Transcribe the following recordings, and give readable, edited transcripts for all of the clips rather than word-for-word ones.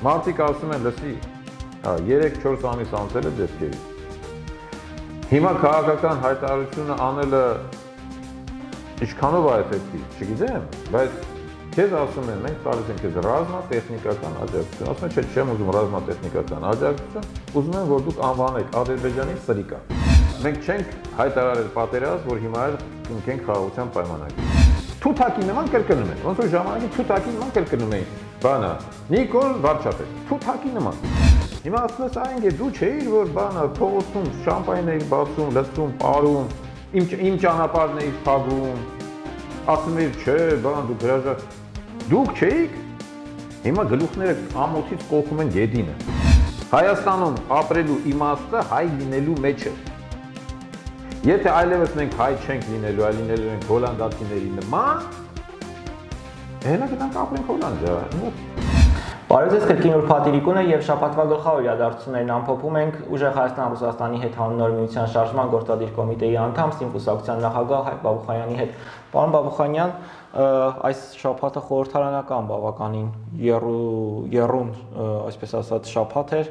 Մարդիկ ասում են լսի, 3-4 ամիս անցել է դեպքերի։ Հիմա քաղաքական հայտարարությունը անելը ինչքանով է էֆեկտիվ, չգիտեմ, բայց քեզ ասում են, մենք տալիս ենք քեզ ռազմատեխնիկական աջակցություն, ասում են, չէ, չեմ ուզում ռազմատեխնիկական աջակցություն, ուզում եմ, որ դուք անվանեք Ադրբեջանի սրիկա։ Մենք չենք հայտարարել պատերազմ, որ հիմա կնքենք խաղաղության պայմանագիր։ Թութակի նման կրկնում են, ոնց որ ժամանակին թութակի նման կրկնում էին, բանա, Նիկոլ Վարչապետ, թութակի նման։ Հիմա ասում ես այն դու չէիր, որ բանա փողոցում շամպայն էիր բացում, լցում, ապարում, իմ ճանապարհն էիր փակում, ասում էիր, չէ, բան դուք հրաժար, դուք չէիք, հիմա գլուխները ամոթից կողում են յետինը։ Հայաստանում ապրելու իմաստը հայ լինելու մեջ է։ Եթե այլևս մենք հայ չենք լինելու, այլ լինելու ենք հոլանդացիների նման, հենա գնանք ապրենք Հոլանդիա։ Բարև ձեզ, կրկին ուրբաթ է եւ շաբաթվա գլխավոր իրադարձություններն ամփոփում ենք ուժեղ Հայաստան-Ռուսաստանի հետ հանուն միության շարժման գործադիր կոմիտեի անդամ Սիմկուսակցության նախագահ Հայկ Բաբուխանյանի հետ։ Պարոն Բաբուխանյան, այս շաբաթը խորհրդարանական բավականին եռուն, այսպես ասած, շաբաթ էր։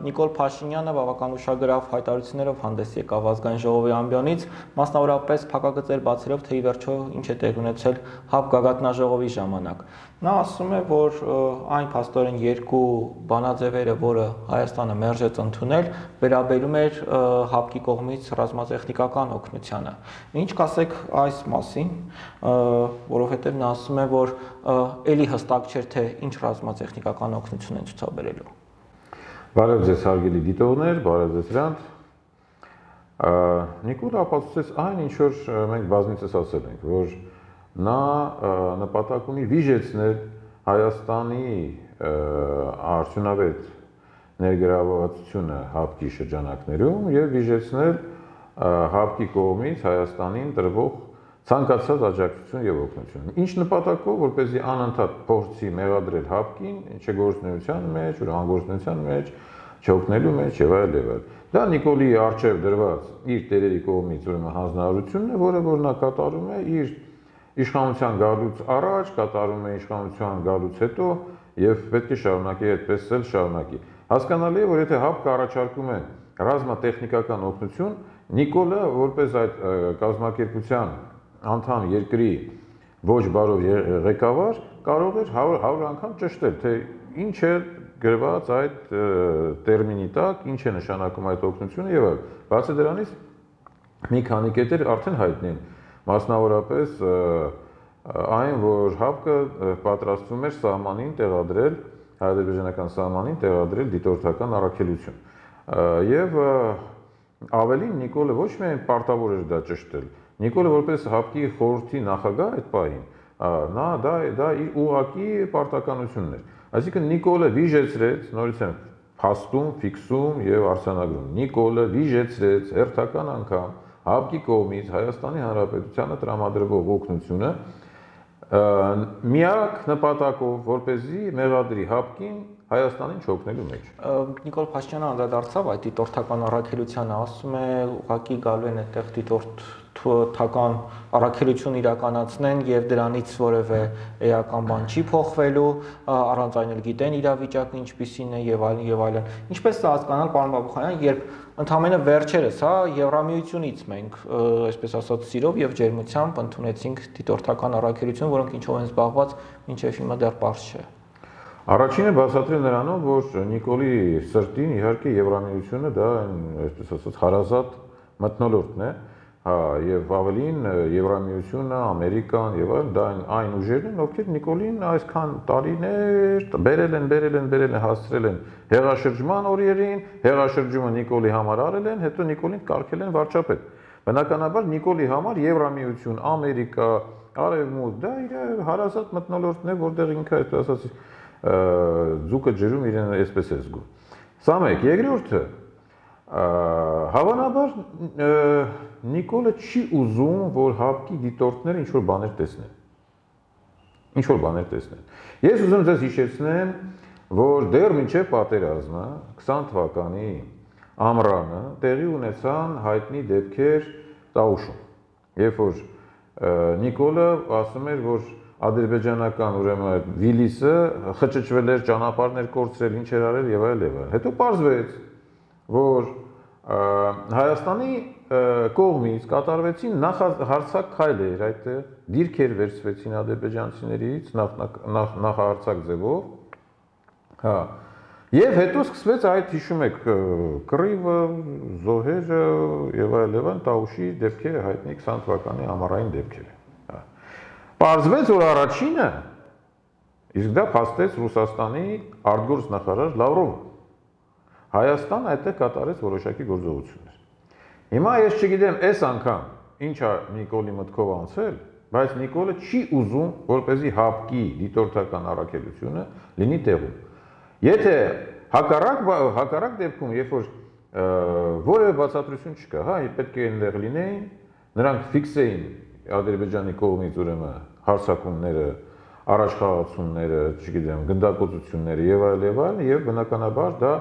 Նիկոլ Փաշինյանը բավական ուշագրավ հայտարարություններով հանդես եկավ ազգային ժողովի ամբիոնից, մասնավորապես փակագծեր բացելով, թե ի վերջո ինչ է տեղի ունեցել ՀԱՊ գագաթնաժողովի ժամանակ։ Նա ասում է, որ այն փաստորեն երկու բանաձևերը, որը Հայաստանը մերժեց ընդունել, վերաբերում էր ՀԱՊԿ-ի կողմից ռազմատեխնիկական օգնությանը։ Ինչ կասեք այս մասին, որովհետև նա ասում է, որ էլի հստակ չէր, թե ինչ ռազմատեխնիկական օգնություն են ցուցաբերելու։ Բարև ձեզ հարգելի դիտողներ, բարև ձեզ Հրանտ։ Նիկոլ ապացուցեց այն, ինչ որ մենք բազմիցս ասել ենք, որ նա նպատակ ունի վիժեցնել Հայաստանի արդյունավետ ներգրավվածությունը ՀԱՊԿ-ի շրջանակներում եւ վիժեցնել ՀԱՊԿ-ի կողմից Հայաստանին տրվող ցանկացած աջակցություն եւ օգնություն։ Ինչ նպատակով, որպեսզի անընդհատ փորձի մեղադրել ՀԱՊԿ-ին, չգործնության մեջ, անգործնության մեջ, չօգնելու մեջ եւ այլ եւ այլ։ Դա Նիկոլի արժեվ դրված իր տերերի կողմից ուրեմն հանձնարարությունն է, որը որ նա կատարում է իր իշխանության գալուց առաջ, կատարում է իշխանության գալուց հետո եւ պետք է շարունակի այդպես էլ շարունակի։ Հասկանալի է, որ եթե ՀԱՊԿ-ը առաջարկում է ռազմատեխնիկական օգնություն, Նիկոլը որպես այդ կազմակերպության անդամ երկրի ոչ բարով ղեկավար կարող էր 100 անգամ ճշտել, թե ինչ է գրված այդ տերմինի տակ, ինչ է նշանակում այդ օգնությունը եւ այլ։ Բացի դրանից մի քանի կետեր արդեն հայտնի են, մասնավորապես այն, որ ՀԱՊԿ-ը պատրաստվում էր սահմանին տեղադրել, հայ-ադրբեջանական սահմանին տեղադրել դիտորդական առաքելություն։ Եվ ավելին Նիկոլը ոչ միայն պարտավոր էր դա ճշտել, Նիկոլը որպես ՀԱՊԿ-ի խորհրդի նախագահ այդ պահին, նա դա իր ուղղակի պարտականությունն էր։ Այսինքն Նիկոլը վիժեցրեց, նորից եմ փաստում, ֆիքսում եւ արձանագրում։ Նիկոլը վիժեցրեց հերթական անգամ ՀԱՊԿ-ի կողմից Հայաստանի Հանրապետությանը տրամադրվող օգնությունը միակ նպատակով, որպեսզի մեղադրի ՀԱՊԿ-ին Հայաստանին չօգնելու մեջ։ Նիկոլ Փաշինյանը անդրադարձավ այդ դիտորդական առաքելությանը, ասում է ուղղակի գալու են այդտեղ դիտորդական առաքելություն իրականացնեն եւ դրանից որևէ էական բան չի փոխվելու, առանց այն էլ գիտեն իրավիճակը ինչպիսին է եւ այլն եւ այլն։ Ինչպես է հասկանալ, պարոն Բաբուխանյան, երբ ընդամենը վերջերս, Եվրամիությունից մենք, այսպես ասած, սիրով եւ ջերմությամբ ընդունեցինք դիտորդական առաքելություն, որոնք ինչով են զբաղված, մինչեւ հիմա դեռ պարզ չէ։ Առաջինը բացատրել նրանով, որ Նիկոլի սրտին իհարկե Եվրամիությունը դա այսպես ասած հարազատ մթնոլորտն է, եւ ավելին Եվրամիությունը, Ամերիկան եւ այլն դա այն ուժերն են, ովքեր Նիկոլին այսքան տարիներ բերել են, հասցրել են հեղաշրջման օրերին, հեղաշրջումը Նիկոլի համար արել են, հետո Նիկոլին կարգել են վարչապետ։ Բնականաբար Նիկոլի համար Եվրամիություն, Ամերիկա, Արևմուտք դա իր հարազատ մթնոլորտն է, որտեղ ինքը այսպես ասած ձուկը ջրում իրեն այսպես է զգում։ Սա մեկ, երկրորդը հավանաբար Նիկոլը չի ուզում, որ ՀԱՊԿ-ի դիտորդները ինչ-որ բաներ տեսնեն։ Ես ուզում ձեզ հիշեցնեմ, որ դեռ մինչև պատերազմը 20 թվականի ամռանը տեղի ունեցան հայտնի դեպքեր Տաուշում, երբ որ Նիկոլը ասում էր, որ ադրբեջանական ուրեմն Վիլիսը խճճվել էր, ճանապարհներ կորցրել, ինչ էր արել եւ այլ եւ այլ։ Հետո պարզվեց, որ Հայաստանի կողմից կատարվեցին նախահարցակ քայլեր այդտեղ, դիրքեր վերցվեցին ադրբեջանցիներից նախահարցակ ձևով, հա, եւ հետո սկսվեց այդ հիշում եք կռիվը, զոհերը եւ այլն, Տաուշի դեպքերը հայտնի 20 թվականի ամառային դեպքերը, հա։ Պարզվեց, որ առաջինը իսկ դա փաստեց Ռուսաստանի արտգործ նախարար Լավրովը։ Հայաստան այդտեղ կատարեց որոշակի գործողություններ։ Հիմա ես չգիտեմ այս անգամ ինչա Նիկոլի մտքով անցել, բայց Նիկոլը չի ուզում, որպեսզի հապկի դիտորդական առաքելությունը լինի տեղում։ Եթե հակառակ դեպքում, երբ որ որևէ բացատրություն չկա, հա, պետք է այնտեղ լինեին, նրանք ֆիքս էին Ադրբեջանի կողմից ուրեմն հարձակումները, առաջխաղացումները, չգիտեմ, գնդակոծությունները եւ այլ, եւ բնականաբար դա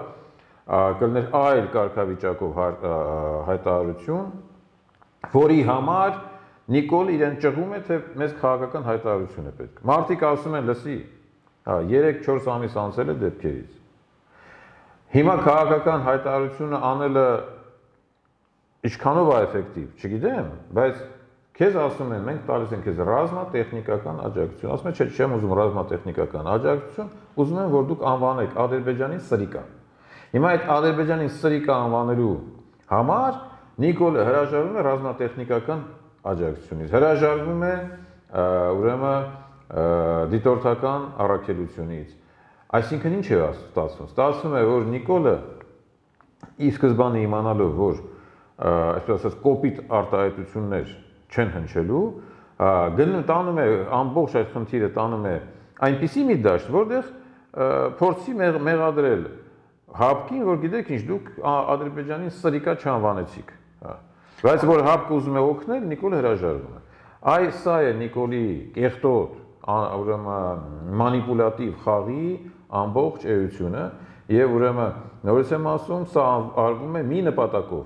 կլներ այլ կարգավիճակով հայտարարություն, որի համար Նիկոլ իրեն ճղում է, թե մեզ քաղաքական հայտարարություն է պետք։ Մարդիկ ասում են, լսի, 3-4 ամիս անցել է դեպքերից։ Հիմա քաղաքական հայտարարությունը անելը ինչքանով է էֆեկտիվ, չգիտեմ, բայց քեզ ասում են, մենք տալիս ենք քեզ ռազմատեխնիկական աջակցություն։ Ասում են, չէ, չեմ ուզում ռազմատեխնիկական աջակցություն, ուզում եմ, որ դուք անվանեք Ադրբեջանի սրիկա։ Հիմա այդ Ադրբեջանի սրիկա անվանելու համար Նիկոլը հրաժարվում է ռազմատեխնիկական աջակցությունից, հրաժարվում է ուրեմն դիտորդական առաքելությունից։ Այսինքն ինչ է ստացվում։ Ստացվում է, որ Նիկոլը ի սկզբանե իմանալով, որ այսպես ասած կոպիտ արտահայտություններ չեն հնչելու, տանում է ամբողջ այդ խնդիրը տանում է այնպիսի մի դաշտ, որտեղ փորձի մեղադրել հապկին, որ գիտեք ինչ, դուք Ադրբեջանի սրիկա չանվանեցիք, բայց որ հապկը ուզում է օգնել, Նիկոլը հրաժարվում է։ Սա է Նիկոլի կեղտոտ, ուրեմն մանիպուլատիվ խաղի ամբողջ էությունը եւ ուրեմն նորից եմ ասում, սա արվում է մի նպատակով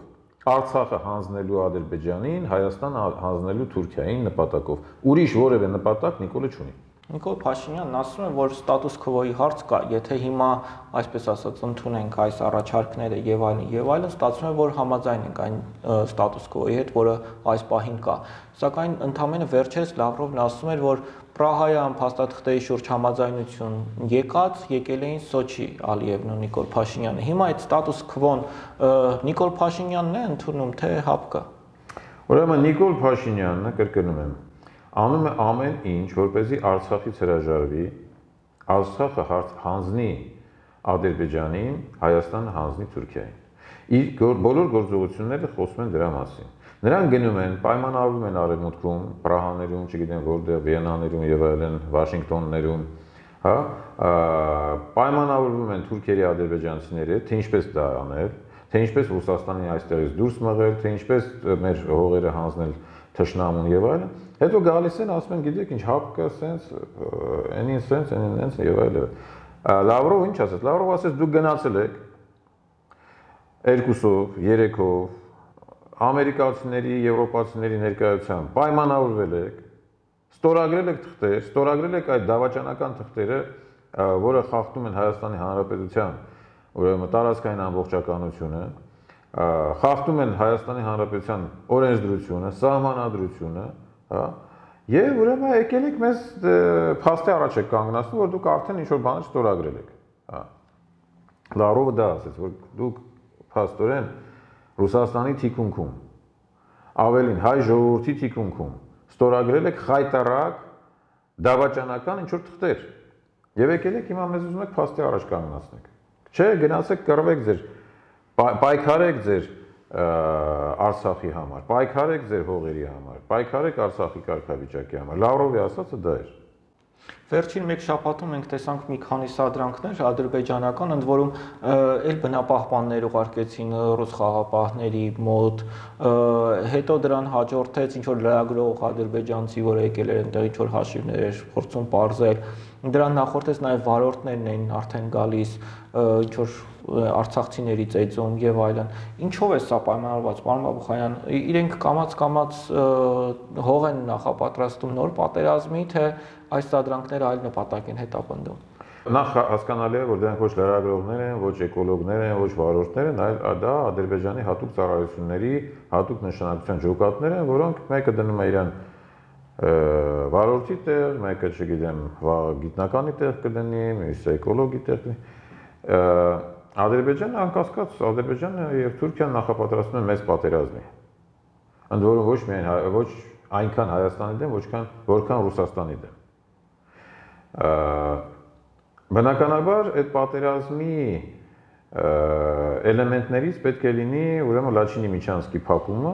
Արցախը հանձնելու Ադրբեջանին, Հայաստան հանձնելու Թուրքիային նպատակով։ Ուրիշ որևէ նպատակ Նիկոլը չունի։ Նիկոլ Փաշինյանն ասում է, որ ստատուս քվոյի հարց կա, եթե հիմա, այսպես ասած, ընդունենք այս առաջարկները եւ այլն, ստացվում է, որ համաձայն ենք այն ստատուս քվոյի հետ, որը այս պահին կա։ Սակայն ընդամենը վերջերս Լավրովն ասում էր, որ Պրահայում փաստաթղթերի շուրջ համաձայնություն եկել էին Սոչի Ալիևն ու Նիկոլ Փաշինյանը։ Հիմա այդ ստատուս քվոն Նիկոլ Փաշինյանն է ընդունում, թե ՀԱՊԿ-ը։ Ուրեմն Նիկոլ Փաշինյանը, կրկնում եմ, անում է ամեն ինչ, որպեսզի Արցախից հրաժարվի, Արցախը հանձնի Ադրբեջանին, Հայաստանը հանձնի Թուրքիային։ Իր բոլոր գործողությունները խոսում են դրա մասին։ Նրանք գնում են, պայմանավորվում են Արևմուտքում, Պրահաներում, չգիտեմ որտեղ, Վիենաներում եւ այլն, Վաշինգտոններում, հա, պայմանավորվում են թուրքերի ադրբեջանցիների հետ, թե ինչպես դա անել, թե ինչպես Ռուսաստանի այստեղից դուրս մղել, թե ինչպես մեր հողերը հանձնել թշնամուն եւ այլն։ Հետո գալիս են, ասում են, գիտեք ինչ, ՀԱՊԿ-ը սենց, այնին սենց, այնին այնց եւ այլն։ Լավրով ինչ ասեց։ Լավրով ասեց, դուք գնացել եք 2-ով, 3-ով ամերիկացիների, եվրոպացիների ներկայությամբ պայմանավորվել եք, ստորագրել եք թղթեր, ստորագրել եք այդ դավաճանական թղթերը, որը խախտում են Հայաստանի Հանրապետության ուրեմն տարածքային ամբողջականությունը, խախտում են Հայաստանի Հանրապետության օրենսդրությունը, սահմանադրությունը, հա, եւ ուրեմն եկել եք մեզ փաստի առաջ եք կանգնացնում, որ դուք արդեն ինչ-որ բաներ ստորագրել եք, հա։ Լավրովը դա ասեց, որ դուք փաստորեն Ռուսաստանի թիկունքում, ավելին հայ ժողովրդի թիկունքում ստորագրել եք խայտարակ դավաճանական ինչ-որ թղթեր եւ եկել եք հիմա մեզ ուզում եք փաստի առաջ կանգնացնեք։ Չէ, գնացեք կռվեք ձեր, պայքարեք ձեր Արցախի համար, պայքարեք ձեր հողերի համար, պայքարեք Արցախի կարգավիճակի համար։ Լավրովի ասածը դա էր։ Վերջին մեկ շաբաթում մենք տեսանք մի քանի սադրանքներ ադրբեջանական, ընդ որում էլ բնապահպաններ ուղարկեցին ռուս խաղապահների մոտ, հետո դրան հաջորդեց ինչ որ լրագրող ադրբեջանցի, որը եկել էր այնտեղ ինչ որ հաշիվներ էր փորձում պարզել, Դրան նախորդեց նաև վարորդներն էին արդեն գալիս, ինչ որ արցախցիներից էծում եւ այլն։ Ինչով է սա պայմանավորված, պարոն Բաբուխանյան, իրենք կամաց հող են նախապատրաստում նոր պատերազմի, թե այս սադրանքները այլ նպատակ են հետապնդում։ Նախ հասկանալի է, որ դրանք ոչ լրագրողներ են, ոչ էկոլոգներ են, ոչ վարորդներ են, այլ դա Ադրբեջանի հատուկ ծառայությունների հատուկ նշանակության ջոկատներ են, որոնք մեկը դնում է իրան վարորդի տեղ, մեկը, չգիտեմ, գիտնականի տեղ կդնի, մյուսը էկոլոգի տեղ կդնի։ Ադրբեջանը անկասկած, Ադրբեջանը եւ Թուրքիան նախապատրաստում են մեծ պատերազմի։ Ընդ որում ոչ այնքան Հայաստանի դեմ, որքան Ռուսաստանի դեմ։ Բնականաբար այդ պատերազմի էլեմենտներից պետք է լինի ուրեմն Լաչինի Միչանսկի փակումը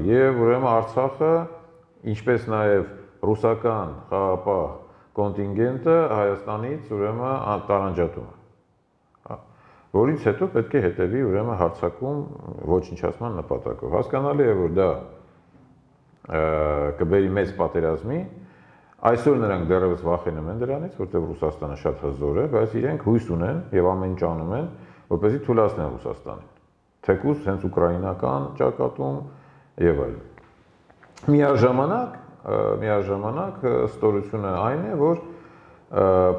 եւ ուրեմն Արցախը, ինչպես նաեւ ռուսական խաղապահ կոնտինգենտը Հայաստանից ուրեմն տարանջատումը, որից հետո պետք է հետևի ուրեմն հարձակում ոչնչացման նպատակով։ Հասկանալի է, որ դա կբերի մեծ պատերազմի։ Այսօր նրանք դեռևս վախենում են դրանից, որտեղ Ռուսաստանը շատ հզոր է, բայց իրենք հույս ունեն եւ ամեն ինչ անում են, որպեսզի թույլատնեն Ռուսաստանին։ Թեկուզ հենց ուկրաինական ճակատում եւ այլն։ Միաժամանակ ստորությունը այն է, որ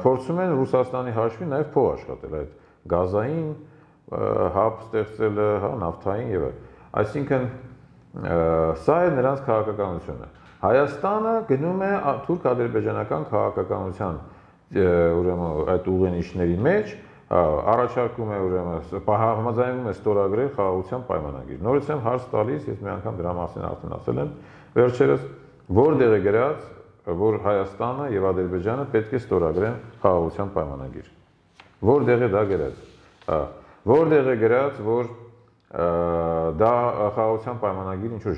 փորձում են Ռուսաստանի հաշվին նաեւ փող աշխատել, այդ գազային հապ ստեղծելը, հա, նավթային եւ այլն։ Այսինքն սա է նրանց քաղաքականությունը։ Հայաստանը գնում է թուրք-ադրբեջանական քաղաքականության ուրեմն այդ ուղենիշների մեջ, առաջարկում է ուրեմն համաձայնվում է ստորագրել խաղաղության պայմանագիր։ Նորից եմ հարց տալիս, ես մի անգամ դրա մասին արդեն ասել եմ վերջերս, որտեղ է գրած, որ Հայաստանը եւ Ադրբեջանը պետք է ստորագրեն խաղաղության պայմանագիր։ Որտեղ է դա գրած։ Որտեղ է գրած, որ դա խաղաղության պայմանագիր ինչ որ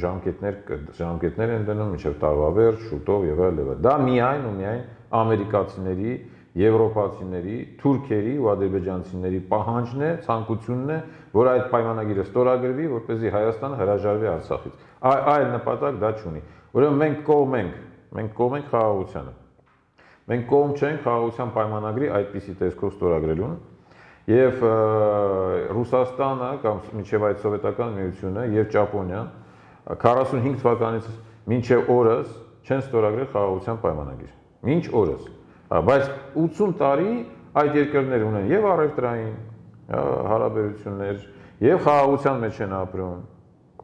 ժամկետներ են դնում մինչև տարվա վերջ, շուտով եւ այլն։ Դա միայն ու միայն ամերիկացիների, եվրոպացիների, թուրքերի ու ադրբեջանցիների պահանջն է, ցանկությունն է, որ այդ պայմանագիրը ստորագրվի, որպեսզի Հայաստանը հրաժարվի Արցախից։ Այլ նպատակ դա չունի։ Ուրեմն մենք կողմ ենք խաղաղությանը։ Մենք կողմ չենք խաղաղության պայմանագրի այդպիսի տեսքով ստորագրելուն։ Եվ Ռուսաստանը կամ մինչև այդ սովետական միությունը եւ Ճապոնիան 45 թվականից մինչև օրս չեն ստորագրել խաղաղության պայմանագիր։ Մինչ օրս։ Բայց 80 տարի այդ երկրները ունեն եւ առևտրային հարաբերություններ, եւ խաղաղության մեջ են ապրում,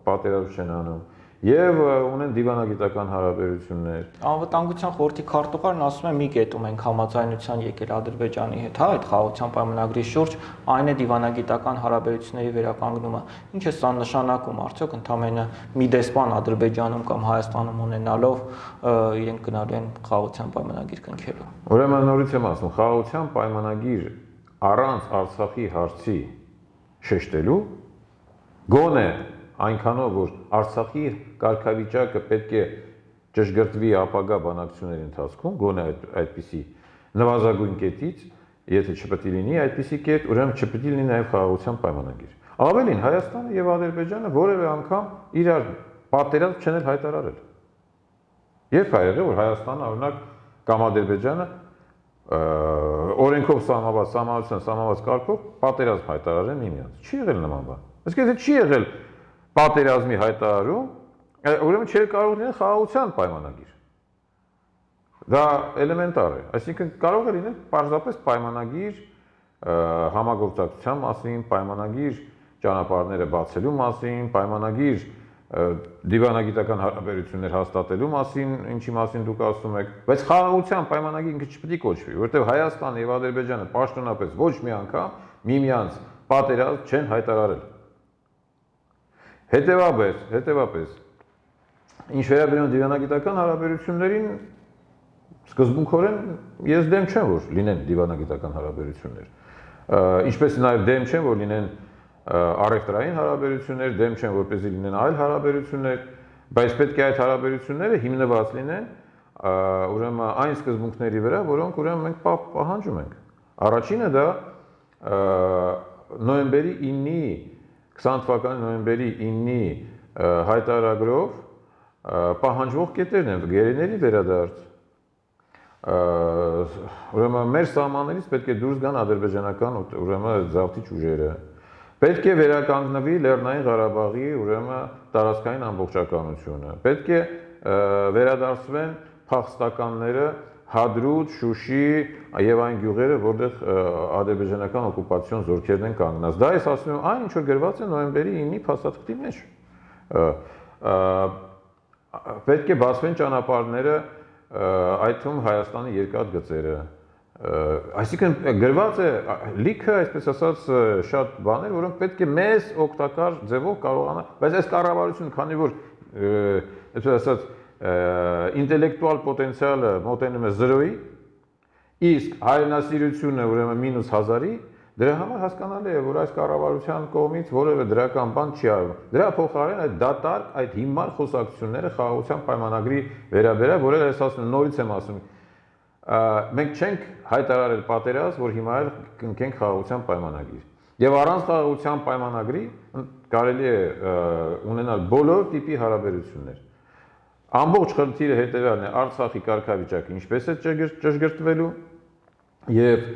պատերազմ չեն անում, եւ ունեն դիվանագիտական հարաբերություններ։ Անվտանգության խորհրդի քարտուղարն ասում է՝ մի կետում ենք համաձայնության եկել Ադրբեջանի հետ, հա, այդ խաղաղության պայմանագրի շուրջ, այն է դիվանագիտական հարաբերությունների վերականգնումը։ Ինչ է սա նշանակում, արդյոք ընդամենը մի դեսպան Ադրբեջանում կամ Հայաստանում ունենալով իրենք գնալու են խաղաղության պայմանագիր կնքելու։ Ուրեմն նորից եմ ասում, խաղաղության պայմանագիր առանց Արցախի հարցի շեշտելու գոնե այնքանով, որ Արցախի կարգավիճակը պետք է ճշգրտվի ապագա բանակցությունների ընթացքում, գոնե այդպիսի նվազագույն կետից, եթե չպետք է լինի այդպիսի կետ, ուրեմն չպետք է լինի նաև խաղաղության պայմանագիր։ Ավելին, Հայաստանը եւ Ադրբեջանը որևէ անգամ իրար պատերազմ չեն հայտարարել։ Երբ ա եղել, որ Հայաստանը, օրինակ, կամ Ադրբեջանը օրենքով սահմանված կարգով պատերազմ հայտարարեն միմյանց։ Չի եղել նման բան։ Իսկ եթե չի եղել պատերազմի հայտարարում, ուրեմն չէր կարող լինել խաղաղության պայմանագիր։ Դա էլեմենտար է, այսինքն կարող է լինել պարզապես պայմանագիր համագործակցության մասին, պայմանագիր ճանապարհները բացելու մասին, պայմանագիր դիվանագիտական հարաբերություններ հաստատելու մասին, ինչի մասին դուք ասում եք, բայց խաղաղության պայմանագիր ինքը չպետք է կոչվի, որովհետև Հայաստանը եւ Ադրբեջանը պաշտոնապես ոչ մի անգամ միմյանց պատերազմ չեն հայտարարել։ Հետևաբար, ինչ վերաբերում դիվանագիտական հարաբերություններին, սկզբունքորեն ես դեմ չեմ, որ լինեն դիվանագիտական հարաբերություններ։ Ինչպես նաև դեմ չեմ, որ լինեն առևտրային հարաբերություններ, դեմ չեմ, որպեսզի լինեն այլ հարաբերություններ, բայց պետք է այդ հարաբերությունները հիմնված լինեն ուրեմն այն սկզբունքների վրա, որոնք ուրեմն մենք պահանջում ենք։ Առաջինը դա նոյեմբերի 9-ի 20 թվականի նոյեմբերի 9-ի հայտարարագրով պահանջվող կետերն են՝ գերիների վերադարձ, ուրեմն մեր սահմաններից պետք է դուրս գան ադրբեջանական ուրեմն զավթիչ ուժերը։ Պետք է վերականգնվի Լեռնային Ղարաբաղի ուրեմն տարածքային ամբողջականությունը։ Պետք է վերադարձվեն փախստականները Հադրութ, Շուշի եւ այն գյուղերը, որտեղ ադրբեջանական օկուպացիոն զորքերն են կանգնած։ Դա ես ասում եմ այն, ինչ որ գրված է նոյեմբերի 9-ի փաստաթղթի մեջ։ Պետք է բացվեն ճանապարհները, այդ թվում Հայաստանի երկաթգծերը։ Այսինքն գրված է լիքը, այսպես ասած, շատ բաներ, որոնք պետք է մեզ օգտակար ձևով կարողանա, բայց այս կառավարությունը, քանի որ այսպես ասած ինտելեկտուալ պոտենցիալը մոտենում է 0-ի, իսկ հայրենասիրությունը ուրեմն մինուս 1000-ի, դրա համար հասկանալի է, որ այս կառավարության կողմից որևէ դրական բան չի արվում։ Դրա փոխարեն այդ դատարկ, այդ հիմար խոսակցությունները խաղաղության պայմանագրի վերաբերյալ, որը ես ասում նորից եմ ասում, մենք չենք հայտարարել պատերազմ, որ հիմա էլ կնքենք խաղաղության պայմանագիր։ Եվ առանց խաղաղության պայմանագրի կարելի է ունենալ բոլոր տիպի հարաբերություններ։ Ամբողջ խնդիրը հետևյալն է, Արցախի կարգավիճակը ինչպես է ճշգրտվելու եւ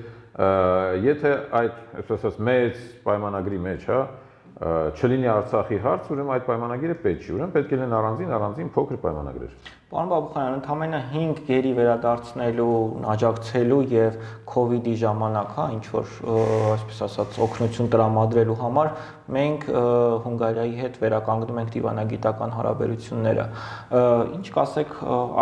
եթե այդ, այսպես ասած, մեծ պայմանագրի մեջ, հա, չլինի Արցախի հարց, ուրեմն այդ պայմանագիրը պետք չի, ուրեմն պետք է լինեն առանձին փոքր պայմանագրեր։ Պարոն Բաբուխանյան, ընդամենը 5 գերի վերադարձնելու, աջակցելու եւ COVID-ի ժամանակ, հա, ինչ որ այսպես ասած օգնություն տրամադրելու համար մենք Հունգարիայի հետ վերականգնում ենք դիվանագիտական հարաբերությունները։ Ինչ կասեք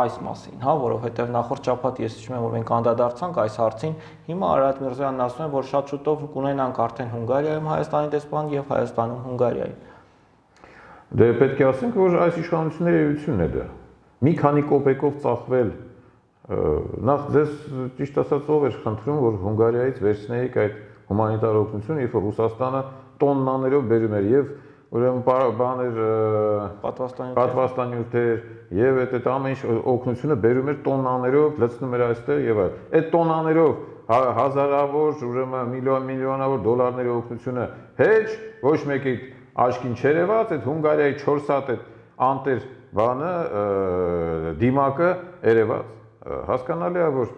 այս մասին, հա, որովհետեւ նախորդ շաբաթ ես հիշում եմ, որ մենք անդրադարձանք այս հարցին, հիմա Արարատ Միրզոյանն ասում է, որ շատ շուտով կունենանք արդեն Հունգարիայում Հայաստանի դեսպան եւ Հայաստանում Հունգարիայի։ Դե պետք է ասենք, որ այս իշխանությունների էությունն է դա։ Մի քանի կոպեկով ծախվել, նախ ձեզ ճիշտ ասած ով էր խնդրում, որ Հունգարիայից վերցնեիք այդ հումանիտար օգնությունը, երբ որ Ռուսաստանը տոննաներով բերում էր եւ ուրեմն բաներ պատվաստանյութեր եւ այդ ամեն ինչ օգնությունը բերում էր տոննաներով, լցնում էր այստեղ եւ այլ։ Այդ տոննաներով հազարավոր, ուրեմն միլիոնավոր դոլարների օգնությունը հեչ ոչ մեկի աչքին չերևաց, այդ Հունգարիայի 4 հատ այդ անտեր բանը դիմակը երևաց, հասկանալի է, որ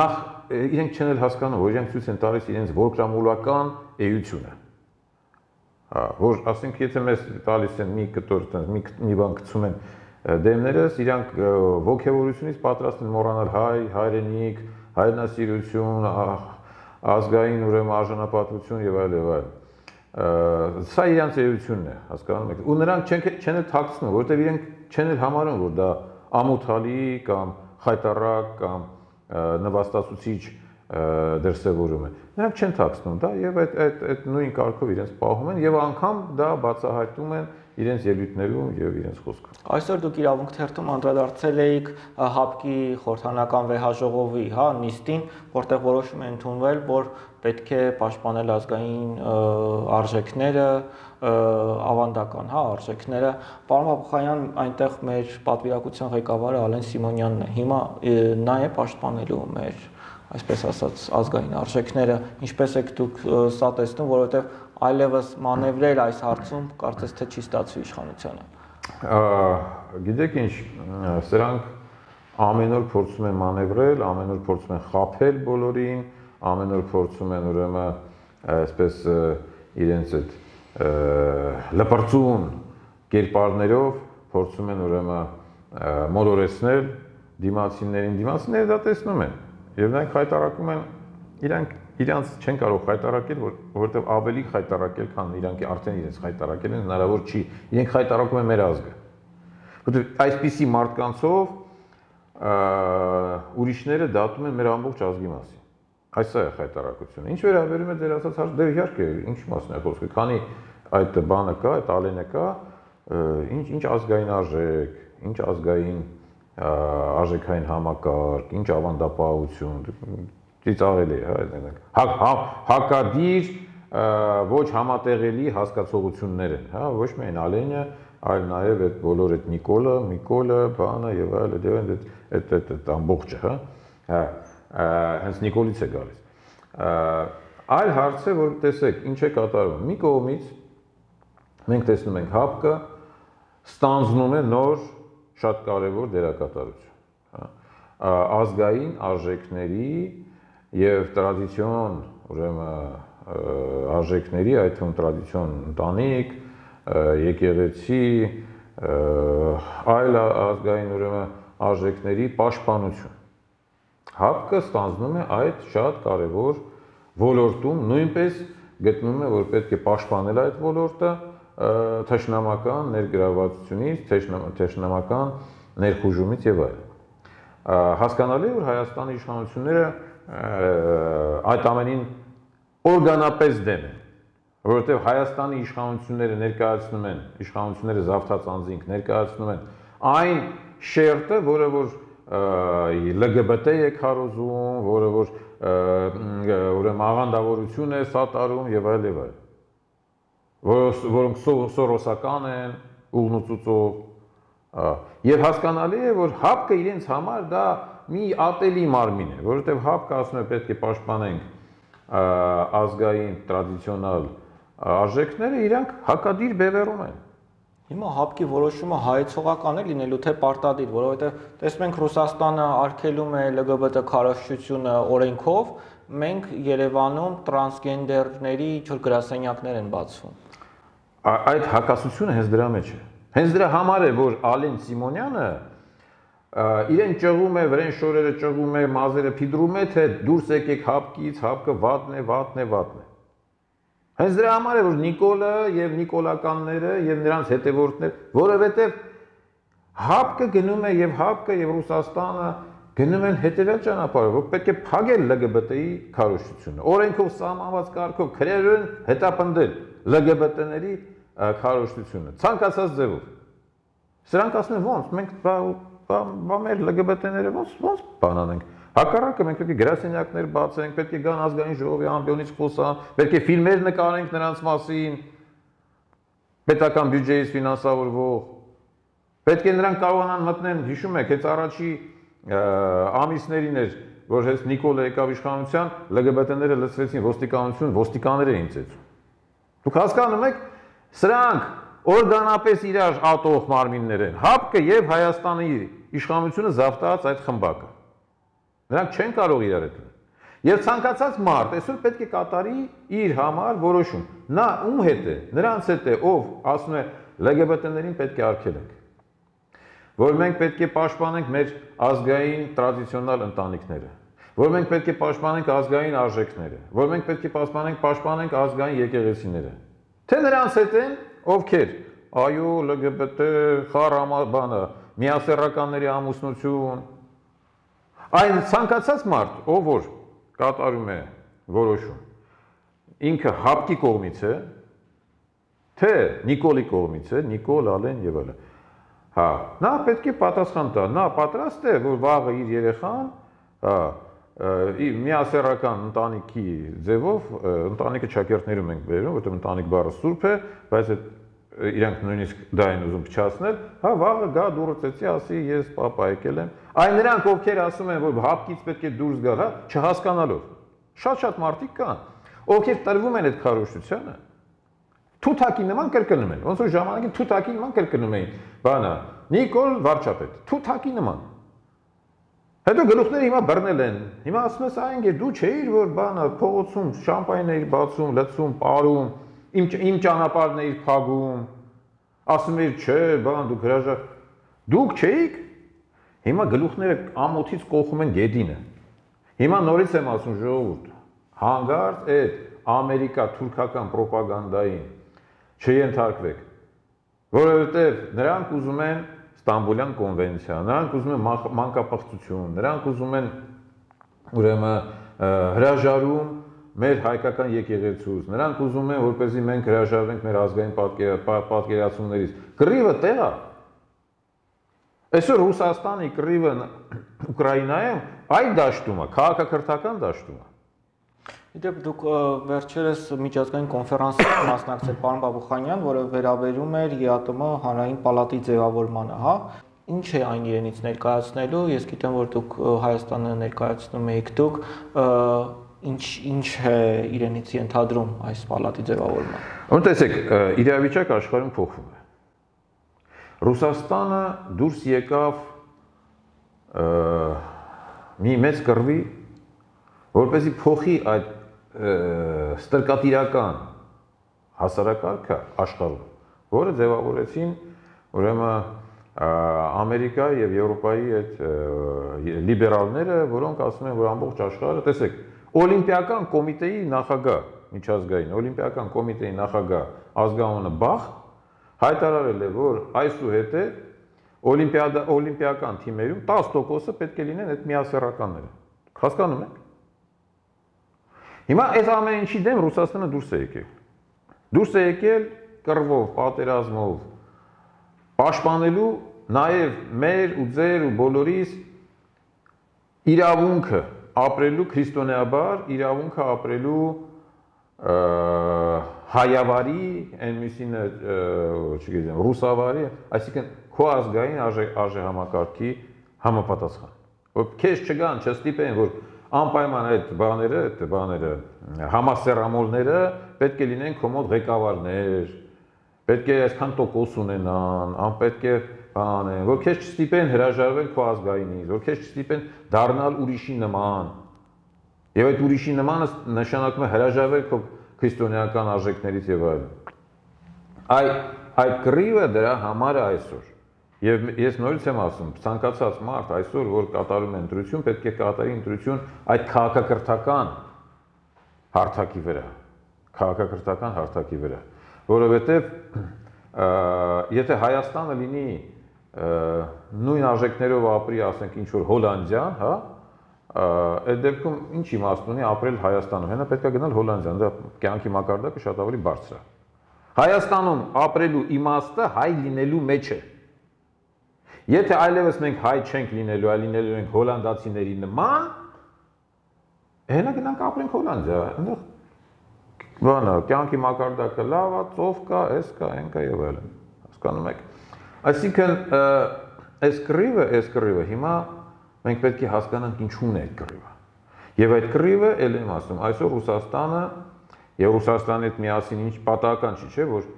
նախ իրենք չեն էլ հասկանում, որ իրենք ցույց են տալիս իրենց որգրամոլական էությունը, որ ասենք եթե մեզ տալիս են մի կտոր, մի բան գցում են դեմներս, իրանք ոգևորությունից պատրաստ են մոռանալ հայրենիք, հայրենասիրություն, ազգային ուրեմն արժանապատվություն եւ այլ եւ այլ։ Սա իրանց էությունն է, հասկանում եք, ու նրանք չեն էլ թաքցնում, որովհետև իրենք չեն էլ համարում, որ դա ամոթալի կամ խայտառակ կամ նվաստացուցիչ դրսևորում է։ Նրանք չեն թաքցնում դա եւ այդ նույն կարգով իրենց պահում են եւ անգամ դա բացահայտում են իրենց ելույթներում եւ իրենց խոսքում։ Այսօր դուք իրավունք թերթում անդրադարձել էիք ՀԱՊԿ-ի խորհրդանական վեհաժողովի, հա, նիստին, որտեղ որոշում է ընդունվել, որ պետք է պաշտպանել ազգային արժեքները, ավանդական, հա, արժեքները։ Պարոն Բաբուխանյան, այնտեղ մեր պատվիրակության ղեկավարը Ալեն Սիմոնյանն է։ Հիմա նա է պաշտպանելու մեր, այսպես ասած, ազգային արժեքները, ինչպես եք դուք սա տեսնում, որովհետև այլևս մանևրել այս հարցում կարծես թե չի ստացվի իշխանությանը։ Գիտեք ինչ, սրանք ամեն օր փորձում են մանևրել, ամեն օր փորձում են խաբել բոլորին, ամեն օր փորձում են ուրեմն այսպես իրենց այդ լպրծուն կերպարներով փորձում են ուրեմն մոլորեցնել դիմացիներին, դիմացիները դա տեսնում են եւ նրանք խայտարակում են, իրանք չեն կարող խայտարակել, որովհետեւ ավելի խայտարակել, քան իրանք արդեն իրենց խայտարակել են, հնարավոր չի։ Իրենք խայտարակում են մեր ազգը։ Որովհետեւ այսպիսի մարդկանցով ուրիշները դատում են մեր ամբողջ ազգի մասին։ Այս է խայտարակությունը։ Ինչ վերաբերում է դեր ասած հարց, դե իհարկե, ինչ մասն է խոսքը, քանի այդ բանը կա, այդ ալենը կա, ինչ ազգային արժեք, ինչ ազգային արժեքային համակարգ, ինչ ավանդապահություն, ծիծաղելի է, հակադիր, ոչ համատեղելի հասկացողություններ են, հա, ոչ միայն Ալենը, այլ նաև այդ բոլոր այդ Նիկոլը, բանը եւ այլ այդ ամբողջը, հա, հենց Նիկոլից է գալիս։ Այլ հարց է, որ տեսեք, ինչ է կատարվում։ Մի կողմից մենք տեսնում ենք ՀԱՊԿ-ը ստանձնում է նոր շատ կարևոր դերակատարություն, հա։ ազգային արժեքների եւ տրադիցիոն, ուրեմն արժեքների, այդ թվում տրադիցիոն ընտանիք, եկեղեցի, այլ ազգային ուրեմն արժեքների պաշտպանություն։ ՀԱՊԿ-ը ստանձնում է այդ շատ կարևոր ոլորտում, նույնպես գտնում է, որ պետք է պաշտպանել այդ ոլորտը թշնամական ներգրավվածությունից, թշնամական ներխուժումից եւ այլն։ Հասկանալի է, որ Հայաստանի իշխանությունները այդ ամենին օրգանապես դեմ են, որովհետեւ Հայաստանի իշխանությունները ներկայացնում են, իշխանությունները զավթած անձինք ներկայացնում են այն շերտը, որը որ LGBT է քարոզում, որը որ ուրեմն աղանդավորություն է սատարում եւ այլ եւ այլ, որոնք սորոսական են, ուղնուծուծով, եւ հասկանալի է, որ ՀԱՊԿ-ը իրենց համար դա մի ատելի մարմին է, որովհետեւ ՀԱՊԿ-ը ասում է պետք է պաշտպանենք ազգային տրադիցիոնալ արժեքները, իրանք հակադիր բևեռում են։ Հիմա ՀԱՊԿ-ի որոշումը հայեցողական է լինելու թե պարտադիր, որովհետև տեսնում ենք Ռուսաստանը արգելում է LGBT քարոզչությունը օրենքով, մենք Երևանում տրանսգենդերների գրասենյակներ են բացվում։ Այդ հակասությունը հենց դրա մեջ է։ Հենց դրա համար է, որ Ալեն Սիմոնյանը իրեն ճղում է, վրեն շորերը ճղում է, մազերը փիդրում է, թե դուրս եկեք ՀԱՊԿ-ից, ՀԱՊԿ-ը վատն է, վատն է, վատն է։ Հենց դրա համար է, որ Նիկոլը եւ նիկոլականները եւ նրանց հետևորդներ, որովհետեւ ՀԱՊԿ-ը գնում է եւ ՀԱՊԿ-ը եւ Ռուսաստանը գնում են հետեւյալ ճանապարհով, որ պետք է փակել LGBT-ի քարոզչությունը։ Օրենքով սահմանված կարգով քրերեն հետապնդել LGBT-ների քարոզչությունը, ցանկացած ձևով։ Սրանք ասում են ոնց, մենք մեր LGBT-ները ոնց բանանենք։ Հակառակը մենք պետք է գրասենյակներ բացենք, պետք է գան ազգային ժողովի ամբիոնից խոսան, պետք է ֆիլմեր նկարենք նրանց մասին, պետական բյուջեից ֆինանսավորվող, պետք է նրանք կարողանան մտնեն, հիշում եք, հենց առաջի ամիսներին էր, որ հենց Նիկոլը եկավ իշխանության, LGBT-ները լցվեցին ոստիկանություն, ոստիկաններ էին ծեծում։ Դուք հասկանում եք, սրանք օրգանապես իրար ատող մարմիններ են, ՀԱՊԿ-ը եւ Հայաստանի իշխանությունը զավթած այդ խմբակը։ Նրանք չեն կարող իրար հետ լինել։ Եվ ցանկացած մարդ այսօր պետք է կատարի իր համար որոշում։ Նա ում հետ է, նրանց հետ է, ով ասում է LGBT-ներին պետք է արգելենք։ Որ մենք պետք է պաշտպանենք մեր ազգային տրադիցիոնալ ընտանիքները, որ մենք պետք է պաշտպանենք ազգային արժեքները, որ մենք պետք է պաշտպանենք ազգային եկեղեցիները։ Թե նրանց հետ են, ովքեր, այո, LGBT խառամաբանը, միասեռականների ամուսնություն, այն ցանկացած մարդ, ով որ կատարում է որոշում, ինքը ՀԱՊԿ-ի կողմից է, թե Նիկոլի կողմից է, Նիկոլ, Ալեն եւ այլն։ Հա, նա պետք է պատասխան տա, նա պատրաստ է, որ վաղը իր երեխան, միասեռական ընտանիքի ձևով, ընտանիքը ճակերտներում ենք բերում, որտեղ ընտանիք բառը սուրբ է, բայց իրանք նույնիսկ դա են ուզում փչացնել, հա վաղը գա դուրս ծեցի, ասի ես պապա եկել եմ։ Այն նրանք, ովքեր ասում են, որ ՀԱՊԿ-ից պետք է դուրս գալ, հա, չհասկանալով։ Շատ մարդիկ կան, ովքեր տրվում են այդ քարոզչությանը, թութակի նման կրկնում են, ոնց որ ժամանակին թութակի նման կրկնում էին, բանը, Նիկոլ վարչապետ, թութակի նման։ Հետո գլուխները հիմա բռնել են, հիմա ասում ես այն դու չէիր, որ բանը փողոցում շամպայն էիր բացում, լցում, ապարում, իմ ճանապարհն էիր փակում, ասում էիր չէ, բան դուք հրաժար, դուք չէիք։ Հիմա գլուխները ամոթից կողում են գեդինը։ Հիմա նորից եմ ասում ժողովուրդ, հանգարտ այդ ամերիկա-թուրքական պրոպագանդային չենթարկվեք, որովհետև նրանք ուզում են Ստամբուլյան կոնվենցիա, նրանք ուզում են մանկապղծություն, նրանք ուզում են ուրեմն հրաժարում մեր հայկական եկեղեցուց, նրանք ուզում են, որպեսզի մենք հրաժարվենք մեր ազգային պատկերացումներից։ Կռիվը տեղ է։ Այսօր Ռուսաստանի կռիվը Ուկրաինայում այդ դաշտում է, քաղաքակրթական դաշտում է։ Իդեպ դուք վերջերս միջազգային կոնֆերանսի մասնակցել պարոն Բաբուխանյան, որը վերաբերում էր ԵԱՏՄ հանրային պալատի ձևավորմանը, հա։ Ինչ է այն իրենից ներկայացնելու, ես գիտեմ, որ դուք Հայաստանը ներկայացնում եք դուք, ինչ է իրենից ենթադրում այս պալատի ձևավորումը։ Տեսեք, իրավիճակը աշխարհում փոխվում է։ Ռուսաստանը դուրս եկավ մի մեծ կռվի, որպեսզի փոխի այդ ստրկատիրական հասարակարգը աշխարհում, որը ձևավորեցին ուրեմն Ամերիկայի եւ Եվրոպայի այդ լիբերալները, որոնք ասում են, որ ամբողջ աշխարհը, տեսեք, Օլիմպիական կոմիտեի նախագահ, միջազգային Օլիմպիական կոմիտեի նախագահ ազգանունը Բախ հայտարարել է, որ այսուհետև օլիմպիական թիմերում 10%-ը պետք է լինեն այդ միասեռականները։ Հասկանում եք։ Հիմա այս ամեն ինչի դեմ Ռուսաստանը դուրս է եկել։ Դուրս է եկել կռվով, պատերազմով, պաշտպանելու նաև մեր ու ձեր ու բոլորիս իրավունքը ապրելու քրիստոնեաբար, իրավունքը ապրելու հայավարի, այն մյուսինը, չգիտեմ, ռուսավարի, այսինքն քո ազգային արժեհամակարգի համապատասխան։ Որ քեզ չգան, չստիպեն, որ անպայման այդ բաները, համասեռամոլները պետք է լինեն քո մոտ ղեկավարներ, պետք է այսքան տոկոս ունենան, անպետք է բանեն, որ քեզ չստիպեն հրաժարվել քո ազգայինից, որ քեզ չստիպեն դառնալ ուրիշի նման։ Եվ այդ ուրիշի նմանը նշանակում է հրաժարվել քո քրիստոնեական արժեքներից եւ այլն։ Այդ կռիվը դրա համար է այսօր։ Եվ ես նորից եմ ասում, ցանկացած մարդ այսօր, որ կատարում է ընտրություն, պետք է կատարի ընտրություն այդ քաղաքակրթական հարթակի վրա, որովհետև եթե Հայաստանը լինի նույն արժեքներով ապրի, ասենք ինչ-որ Հոլանդիան, հա, այդ դեպքում ինչ իմաստ ունի ապրել Հայաստանում, հենա պետք է գնալ Հոլանդիան, դա կյանքի մակարդակը շատ ավելի բարձր է։ Հայաստանում ապրելու իմաստը հայ լինելու մեջ է։ Եթե այլևս մենք հայ չենք լինելու, այլ լինելու ենք հոլանդացիների նման, հենա գնանք ապրենք Հոլանդիա, այնտեղ բանը, կյանքի մակարդակը լավ է, ծով կա, էս կա, այն կա եւ այլն։ Հասկանում եք։ Այսինքն այս կռիվը հիմա մենք պետք է հասկանանք ինչու՞ն է այդ կռիվը։ Եվ այդ կռիվը, ել եմ ասում, այսօր Ռուսաստանը եւ Ռուսաստանի հետ միասին ինչ պատահական չի, չէ, որ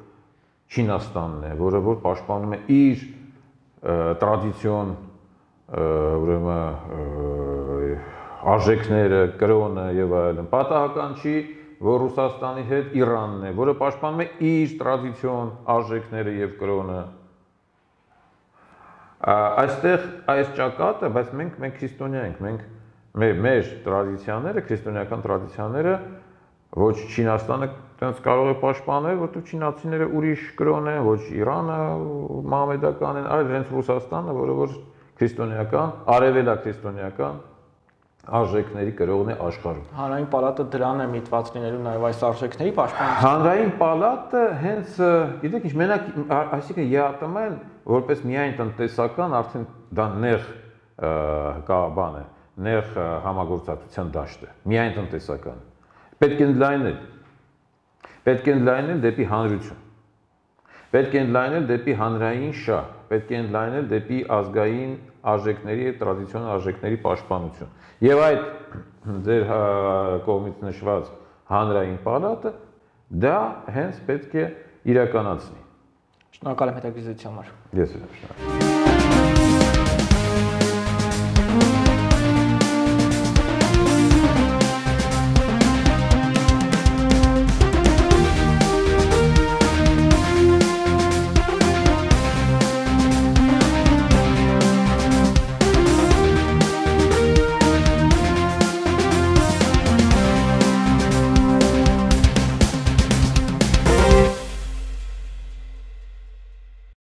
Չինաստանն է, որը որ պաշտպանում է իր տրադիցիոն ուրեմն արժեքները, կրոնը եւ այլն։ Պատահական չի, որ Ռուսաստանի հետ Իրանն է, որը պաշտպանում է իր տրադիցիոն արժեքները եւ կրոնը։ Այստեղ այս ճակատը, բայց մենք քրիստոնյա ենք, մենք մեր տրադիցիաները, քրիստոնեական տրադիցիաները ոչ Չինաստանը տենց կարող է պաշտպանել, որտեղ չինացիները ուրիշ կրոն են, ոչ Իրանը մահմեդական են, այլ հենց Ռուսաստանը, որը որ քրիստոնեական, արևելաքրիստոնեական արժեքների կրողն է աշխարհում։ Հանրային պալատը դրան է միտված լինելու նաև այս արժեքների պաշտպանություն։ Հանրային պալատը հենց, գիտեք ինչ, մենակ, այսինքն ԵԱՏՄ-ն որպես միայն տնտեսական արդեն դա նեղ բան է, նեղ համագործակցության դաշտ է, միայն տնտեսական։ Պետք է ընդլայնել դեպի հանրություն, պետք է ընդլայնել դեպի հանրային շահ, պետք է ընդլայնել դեպի ազգային արժեքների եւ տրադիցիոնալ արժեքների պաշտպանություն։ Եվ այդ ձեր կողմից նշված հանրային պալատը դա հենց պետք է իրականացնի։ Շնորհակալ եմ հետաքրքրության համար։ Ես եմ շնորհակալ։